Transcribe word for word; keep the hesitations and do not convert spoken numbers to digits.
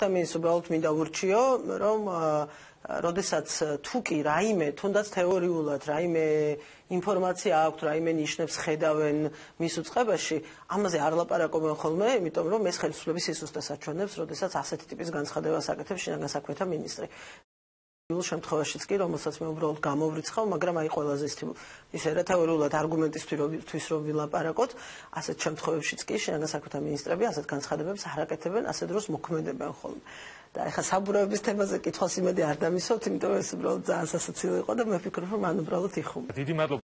ამის უბრალოდ მინდა ვურჩიო, რომ როდესაც თუ კი რაიმე, თუნდაც თეორიულად რაიმე ინფორმაცია აქვს, რაიმე ნიშნებს ხედავენ მის უწყებაში, ამაზე არ ლაპარაკობენ ხოლმე, იმიტომ რომ ეს ხელისუფლების სისუსტეს აჩვენებს, როდესაც ასეთი ტიპის განცხადებას აკეთებს შინაგან საქმეთა მინისტრი.Ულ შემთხვევაშიც კი, რომელსაც მე უბრალოდ გამოვრიცხავ, მაგრამ აი ყველაზე ისე რა თეორიულად არგუმენტისთვის რომ ვილაპარაკოთ, ასეთ შემთხვევებშიც კი შინაგან საქმეთა მინისტრები ასეთ განცხადებებს არ აკეთებენ, ასეთ დროს მოქმედებენ ხოლმე. და ეხლა საბურავების თემაზე კითხვას იმედი არ დამისვათ, იმიტომ რომ ეს უბრალოდ ძალიან სასაცილო იყო და მე ვფიქრობ, რომ მან უბრალოდ იხუმა.